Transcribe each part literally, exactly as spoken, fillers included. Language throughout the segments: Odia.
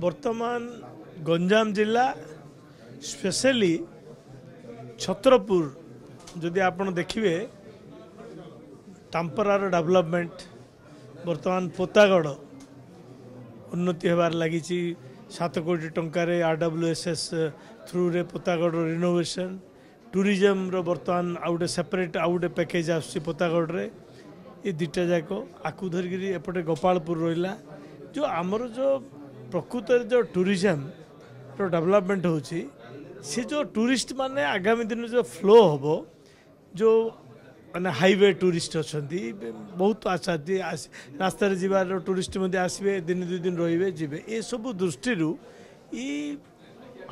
ବର୍ତ୍ତମାନ ଗଞ୍ଜାମ ଜିଲ୍ଲା ସ୍ପେଶାଲି ଛତ୍ରପୁର ଯଦି ଆପଣ ଦେଖିବେ ତାମ୍ପରାର ଡେଭଲପମେଣ୍ଟ ବର୍ତ୍ତମାନ ପୋତାଗଡ଼ ଉନ୍ନତି ହେବାରେ ଲାଗିଛି ସାତ କୋଟି ଟଙ୍କାରେ ଆର୍ ଡବ୍ଲ୍ୟୁ ଏସ୍ ଏସ୍ ଥ୍ରୁରେ ପୋତାଗଡ଼ର ରିନୋଭେସନ୍ ଟୁରିଜମର ବର୍ତ୍ତମାନ ଆଉ ଗୋଟେ ସେପାରେଟ୍ ଆଉ ଗୋଟେ ପ୍ୟାକେଜ୍ ଆସୁଛି ପୋତାଗଡ଼ରେ ଏ ଦୁଇଟା ଯାକ ଆକୁ ଧରିକିରି ଏପଟେ ଗୋପାଳପୁର ରହିଲା ଯେଉଁ ଆମର ଯେଉଁ ପ୍ରକୃତରେ ଯେଉଁ ଟୁରିଜମର ଡେଭଲପମେଣ୍ଟ ହେଉଛି ସେ ଯେଉଁ ଟୁରିଷ୍ଟ ମାନେ ଆଗାମୀ ଦିନରେ ଯେଉଁ ଫ୍ଲୋ ହେବ ଯେଉଁ ମାନେ ହାଇୱେ ଟୁରିଷ୍ଟ ଅଛନ୍ତି ବହୁତ ଆସନ୍ତି ରାସ୍ତାରେ ଯିବାର ଟୁରିଷ୍ଟ ମଧ୍ୟ ଆସିବେ ଦିନେ ଦୁଇ ଦିନ ରହିବେ ଯିବେ ଏସବୁ ଦୃଷ୍ଟିରୁ ଇ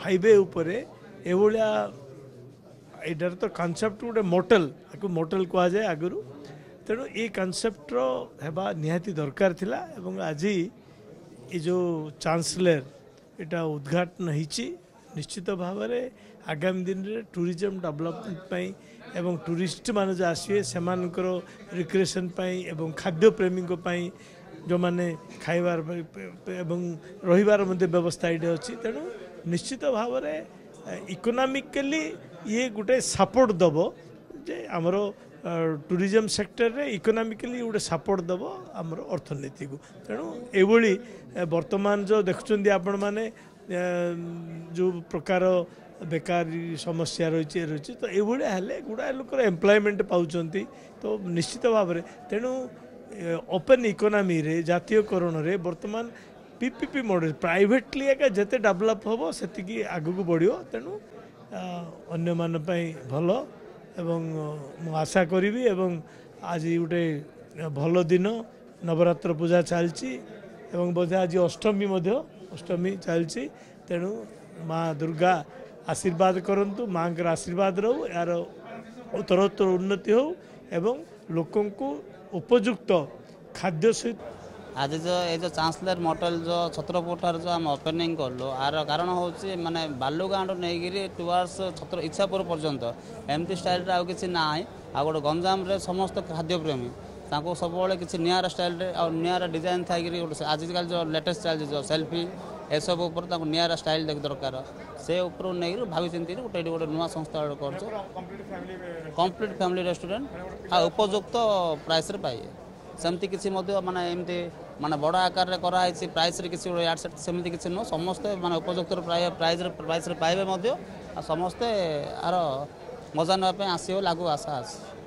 ହାଇୱେ ଉପରେ ଏଭଳିଆ ଏଇଟାର ତ କନସେପ୍ଟ ଗୋଟେ ମୋଟେଲ ଆକୁ ମୋଟେଲ କୁହାଯାଏ ଆଗରୁ ତେଣୁ ଏ କନସେପ୍ଟର ହେବା ନିହାତି ଦରକାର ଥିଲା ଏବଂ ଆଜି ଏ ଯେଉଁ ଚାନ୍ସେଲର ଏଇଟା ଉଦ୍ଘାଟନ ହେଇଛି ନିଶ୍ଚିତ ଭାବରେ ଆଗାମୀ ଦିନରେ ଟୁରିଜମ ଡେଭଲପମେଣ୍ଟ ପାଇଁ ଏବଂ ଟୁରିଷ୍ଟମାନେ ଯେଉଁ ଆସିବେ ସେମାନଙ୍କର ରିକ୍ରିଏସନ୍ ପାଇଁ ଏବଂ ଖାଦ୍ୟପ୍ରେମୀଙ୍କ ପାଇଁ ଯେଉଁମାନେ ଖାଇବାର ଏବଂ ରହିବାର ମଧ୍ୟ ବ୍ୟବସ୍ଥା ଏଇଠି ଅଛି ତେଣୁ ନିଶ୍ଚିତ ଭାବରେ ଇକୋନୋମିକାଲି ଇଏ ଗୋଟେ ସପୋର୍ଟ ଦେବ ଯେ ଆମର ଟୁରିଜମ ସେକ୍ଟରରେ ଇକୋନୋମିକାଲି ଗୋଟେ ସପୋର୍ଟ ଦେବ ଆମର ଅର୍ଥନୀତିକୁ ତେଣୁ ଏଭଳି ବର୍ତ୍ତମାନ ଯେଉଁ ଦେଖୁଛନ୍ତି ଆପଣମାନେ ଯେଉଁ ପ୍ରକାର ବେକାରୀ ସମସ୍ୟା ରହିଛି ରହିଛି ତ ଏଇଭଳିଆ ହେଲେ ଗୁଡ଼ାଏ ଲୋକର ଏମ୍ପ୍ଲୟମେଣ୍ଟ ପାଉଛନ୍ତି ତ ନିଶ୍ଚିତ ଭାବରେ ତେଣୁ ଓପେନ୍ ଇକୋନୋମିରେ ଜାତୀୟକରଣରେ ବର୍ତ୍ତମାନ P P P model privately ଏକା ଯେତେ ଡେଭଲପ୍ ହେବ ସେତିକି ଆଗକୁ ବଢ଼ିବ ତେଣୁ ଅନ୍ୟମାନଙ୍କ ପାଇଁ ଭଲ ଏବଂ ମୁଁ ଆଶା କରିବି ଏବଂ ଆଜି ଗୋଟେ ଭଲ ଦିନ ନବରାତ୍ର ପୂଜା ଚାଲିଛି ଏବଂ ବୋଧେ ଆଜି ଅଷ୍ଟମୀ ମଧ୍ୟ ଅଷ୍ଟମୀ ଚାଲିଛି ତେଣୁ ମା ଦୁର୍ଗା ଆଶୀର୍ବାଦ କରନ୍ତୁ ମାଙ୍କର ଆଶୀର୍ବାଦ ରହୁ ଏହାର ଉତ୍ତରୋତ୍ତର ଉନ୍ନତି ହେଉ ଏବଂ ଲୋକଙ୍କୁ ଉପଯୁକ୍ତ ଖାଦ୍ୟ ସହିତ ଆଜି ଯେଉଁ ଏ ଯେଉଁ ଚାନ୍ସେଲର ମୋଟେଲ ଯେଉଁ ଛତ୍ରପୁରଠାରେ ଯେଉଁ ଆମେ ଓପେନିଂ କଲୁ ଆର କାରଣ ହେଉଛି ମାନେ ବାଲୁଗାଁଠୁ ନେଇକିରି ଟୁୱାର୍ଡସ୍ ଛତ୍ର ଇଚ୍ଛାପୁର ପର୍ଯ୍ୟନ୍ତ ଏମିତି ଷ୍ଟାଇଲରେ ଆଉ କିଛି ନାହିଁ ଆଉ ଗୋଟେ ଗଞ୍ଜାମରେ ସମସ୍ତ ଖାଦ୍ୟପ୍ରେମୀ ତାଙ୍କୁ ସବୁବେଳେ କିଛି ନିଆରା ଷ୍ଟାଇଲରେ ଆଉ ନିଆରା ଡିଜାଇନ୍ ଥାଇକିରି ଗୋଟେ ଆଜିକାଲି ଯେଉଁ ଲେଟେଷ୍ଟ ଚାଲିଛି ଯେଉଁ ସେଲ୍ଫି ଏସବୁ ଉପରେ ତାଙ୍କୁ ନିଆରା ଷ୍ଟାଇଲ୍ ଦେଖ ଦରକାର ସେ ଉପରୁ ନେଇକିରି ଭାବି ଚିନ୍ତିକି ଗୋଟେ ଏଠି ଗୋଟେ ନୂଆ ସଂସ୍ଥା ଗୋଟେ କରୁଛୁ କମ୍ପ୍ଲିଟ୍ ଫ୍ୟାମିଲି ରେଷ୍ଟୁରାଣ୍ଟ ଆଉ ଉପଯୁକ୍ତ ପ୍ରାଇସ୍ରେ ପାଇବେ ସେମିତି କିଛି ମଧ୍ୟ ମାନେ ଏମିତି ମାନେ ବଡ଼ ଆକାରରେ କରାହେଇଛି ପ୍ରାଇସ୍ରେ କିଛି ଗୋଟେ ୟାଡ ସେଟ୍ ସେମିତି କିଛି ନୁହଁ ସମସ୍ତେ ମାନେ ଉପଯୁକ୍ତ ପ୍ରାଇସ୍ରେ ପ୍ରାଇସ୍ରେ ପାଇବେ ମଧ୍ୟ ଆଉ ସମସ୍ତେ ଆର ମଜା ନେବା ପାଇଁ ଆସିବେ ବୋଲି ଆଗକୁ ଆଶା ଅଛି